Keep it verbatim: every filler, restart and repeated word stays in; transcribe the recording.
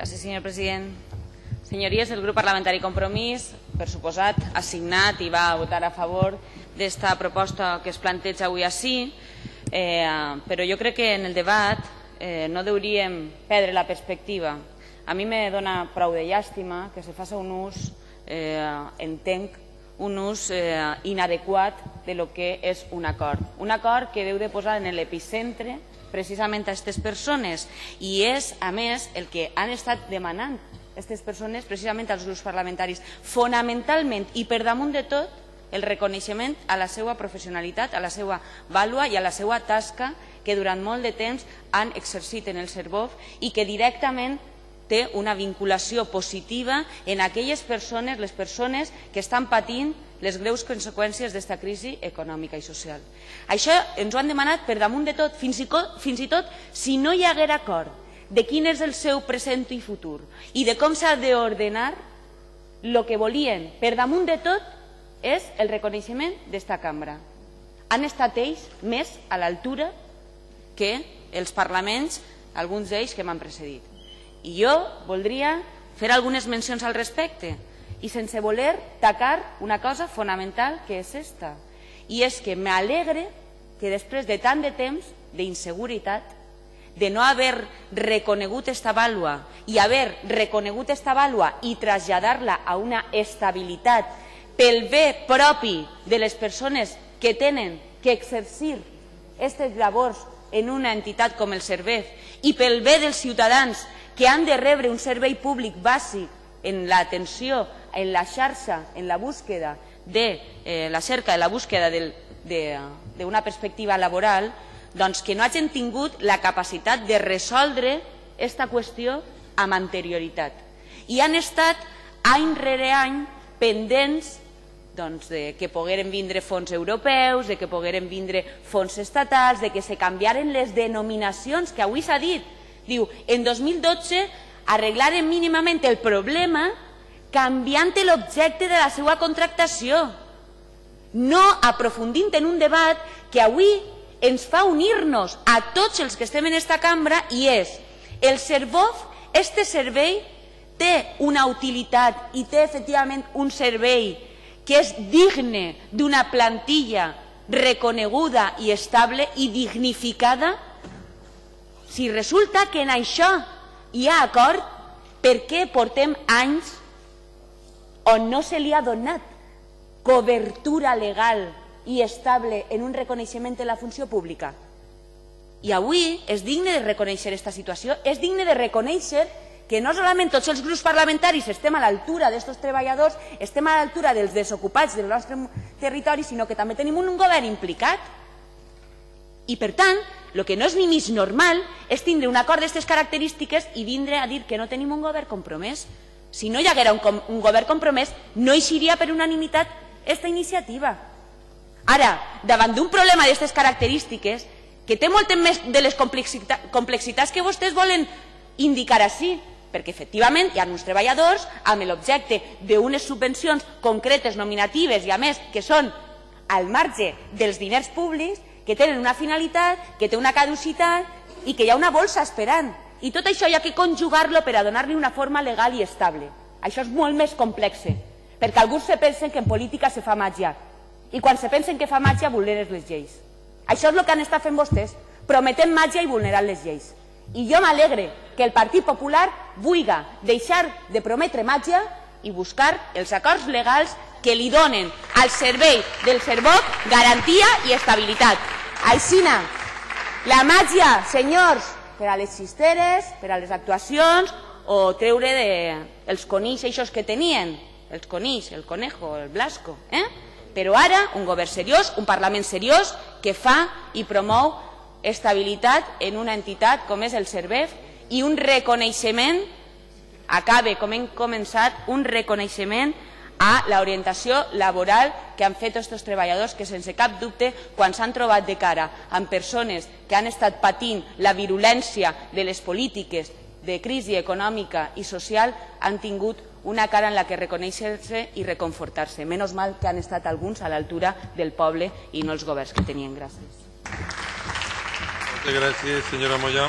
Gràcies, senyor president. Senyories, el grup parlamentari Compromís, per suposat, ha signat i va votar a favor d'esta proposta que es planteja avui ací, eh, però jo crec que en el debat eh, no hauríem perdre la perspectiva. A mi me dona prou de llàstima que se faci un ús, eh, entenc, un ús eh, inadequat de lo que és un acord. Un acord que deu de posar en l'epicentre precisament a aquestes persones i és, a més, el que han estat demanant aquestes persones precisament als grups parlamentaris. Fonamentalment i per damunt de tot, el reconeixement a la seva professionalitat, a la seva vàlua i a la seva tasca que durant molt de temps han exercit en el Servof i que directament té una vinculació positiva en aquelles persones, les persones que estan patint les greus conseqüències d'esta crisi econòmica i social. Això ens ho han demanat per damunt de tot, fins i tot, fins i tot si no hi hagués acord de quin és el seu present i futur i de com s'ha d'ordenar, el que volien per damunt de tot és el reconeixement d'esta cambra. Han estat ells més a l'altura que els parlaments, alguns d'ells que m'han precedit. I jo voldria fer algunes mencions al respecte i sense voler tacar una cosa fonamental que és esta. I és que m'alegre que després de tant de temps d'inseguretat, de no haver reconegut esta vàlua i haver reconegut esta vàlua i traslladar-la a una estabilitat pel bé propi de les persones que tenen que exercir aquestes labors en una entitat com el Servef i pel bé dels ciutadans que han de rebre un servei públic bàsic en l'atenció, en la xarxa, en la búsqueda de eh, la cerca, de la búsqueda d'una perspectiva laboral, doncs que no hagin tingut la capacitat de resoldre aquesta qüestió amb anterioritat. I han estat any rere any pendents doncs, de que pogueren vindre fons europeus, de que pogueren vindre fons estatals, de que se canviaren les denominacions, que avui s'ha dit. Diu, en dos mil dotze arreglaren mínimament el problema canviant l'objecte de la seva contractació, no aprofundint en un debat que avui ens fa unir-nos a tots els que estem en aquesta cambra i és el Servof, este servei té una utilitat i té efectivament un servei que és digne d'una plantilla reconeguda i estable i dignificada. Si resulta que en això hi ha acord, per què portem anys on no se li ha donat cobertura legal i estable en un reconeixement de la funció pública? I avui és digne de reconèixer aquesta situació, és digne de reconèixer que no solament tots els grups parlamentaris estem a l'altura d'aquests treballadors, estem a l'altura dels desocupats del nostre territori, sinó que també tenim un govern implicat. I per tant, el que no és ni més normal és tindre un acord d'aquestes característiques i vindre a dir que no tenim un govern compromès. Si no hi haguera un, un govern compromès, no eixiria per unanimitat aquesta iniciativa. Ara, davant d'un problema d'aquestes característiques, que té moltes més de les complexitats que vostès volen indicar així, perquè efectivament hi ha uns treballadors amb l'objecte d'unes subvencions concretes, nominatives i a més que són al marge dels diners públics, que tenen una finalitat, que té una caducitat i que hi ha una bolsa esperant. I tot això hi ha que conjugar-lo per a donar-li una forma legal i estable. Això és molt més complex, perquè alguns se pensen que en política se fa màgia i quan se pensen que fa màgia vulneren les lleis. Això és el que han estat fent vostès, prometent màgia i vulnerant les lleis. I jo m'alegre que el Partit Popular vulgui deixar de prometre màgia i buscar els acords legals que li donen al servei del Servof garantia i estabilitat. Aixina, la màgia, senyors, per a les xisteres, per a les actuacions o treure els conills eixos que tenien, els conills, el conejo, el blasco, eh? Però ara un govern seriós, un Parlament seriós que fa i promou estabilitat en una entitat com és el Servef i un reconeixement, acabe com hem començat, un reconeixement a l'orientació laboral que han fet aquests treballadors que sense cap dubte quan s'han trobat de cara amb persones que han estat patint la virulència de les polítiques de crisi econòmica i social han tingut una cara en la que reconèixer-se i reconfortar-se. Menys mal que han estat alguns a l'altura del poble i no els governs que tenien. Gràcies. Gràcies, senyora Moya.